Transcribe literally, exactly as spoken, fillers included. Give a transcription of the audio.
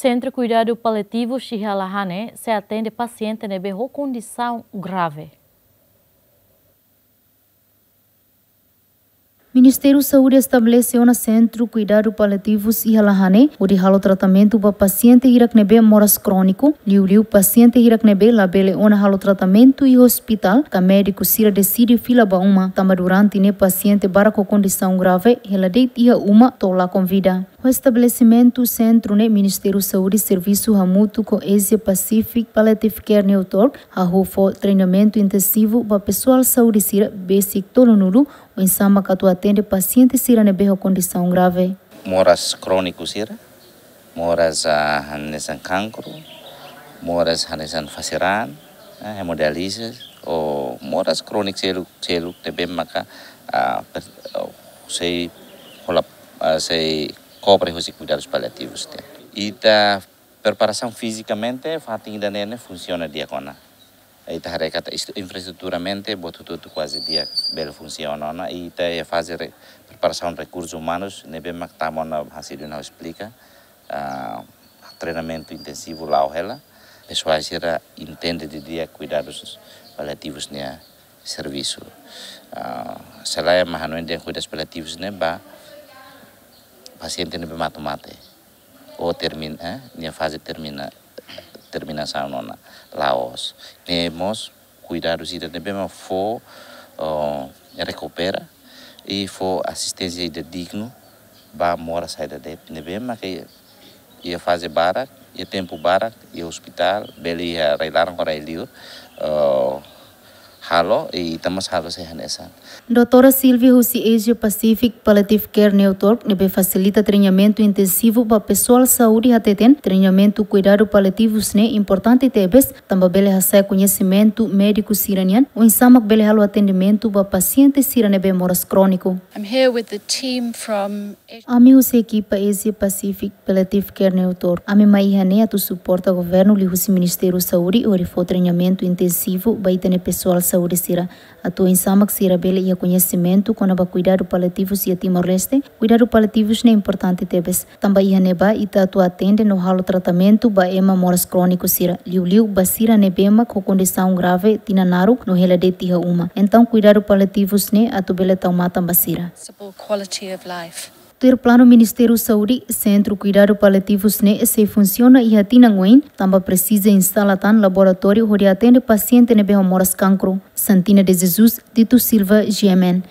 Sentru Kuidadu Paliativus iha Lahane sei atende pasiente ne'ebé ho kondisaun grave. Ministériu Saúde estabelese ona Sentru Kuidadu Paliativus iha Lahane, hodi halo tratamentu ba pasiente hirak ne'ebé moras króniku, liuliu pasiente hirak ne'ebé labele ona halo tratamentu iha ospitál, ka médiku sira deside fila ba uma, tanba durante ne'e pasiente barak ho kondisaun grave hela de'it iha uma to'o lakon vida. Ho estabelesimentu sentru ne'e, Ministériu Saúde servisu hamutuk ho Asia Pacific Palliative Care Network, hahú fó treinamentu intensivu ba pesoál saúde sira besik tolunulu, oinsá mak atu atende pasiente sira ne'ebé ho kondisaun grave. Moras króniku sira, moras, ah, hanesan kankru, moras hanesan fase raan, eh, hemodiálise, ou moras króniku seluk, seluk ne'ebé maka, ah, per-, oh, sei hola, ah, sei kobre husi kuidadus paliativus ne'e. Ita preparasaun fizikamente, fatin ida-ne'e ne'e funsiona di'ak ona. Ita haree katak istu-, infraestruturamente, buat hotu-hotu kuaze di'ak bele funsiona ona. Ita iha faze re-, preparasaun rekursus umanus, ne'ebé mak tama ona hasil duna esplika, ah, treinamentu intensivu la'o hela. Pesoál sira entende didi'ak kuidadus paliativus nia servisu. Ah, selae mak hanoin dehan kuidadus paliativus ne'e ba pasiente ne'ebé matu mate. Ou termin-, eh, nia faze termina-, terminasaun ona la'ós. Ne'e mós kuidadus ida ne'ebé mak fó, oh, rekupera i fó asisténsia ida dignu ba moras saida de'it. Ne'ebé mak iha faze barak, iha tempu barak, iha ospitál, bele iha rai-laran ka rai-liur, oh, halo, i ita mós halo sei hanesan. Doutora Silvia husi Asia Pacific Palliative Care Network, ne'ebé fasilita treinamentu intensivu ba pesoál saúde hateten, treinamentu kuidadu paliativus ne'e importante tebes, tanba bele hasa'e koñesimentu médiku sira-nian, oinsá mak bele halo atendimentu ba pasiente sira ne'ebé moras króniku. I'm here with the team from Ami husi ekipa Asia Pacific Palliative Care Network. Ami mai iha ne'e atu suporta governu liuhusi Ministériu Saúde hodi fó treinamentu intensivu ba ita-nia pesoál saúde sira. Atu oinsá mak sira bele iha koñesimentu kona-ba kuidadu paliativus iha Timor-Leste, kuidadu paliativus ne'e importante tebes. Tanba iha ne'ebá ita atu atende no halo tratamentu ba ema moras króniku sira, liuliu ba sira ne'ebé mak ho kondisaun grave tinan naruk no hela de'it iha uma. Entaun kuidadu paliativus ne'e atu bele tau matan ba sira. Possible quality of life. Tuir planu Ministériu Saúde, Sentru Kuidadu Paliativus ne'e sei funsiona iha tinan oin, tanba presiza instala tan laboratóriu hodi atende pasiente ne'ebé ho moras kankru. Santina de Jesus, Dito Silva, G M N.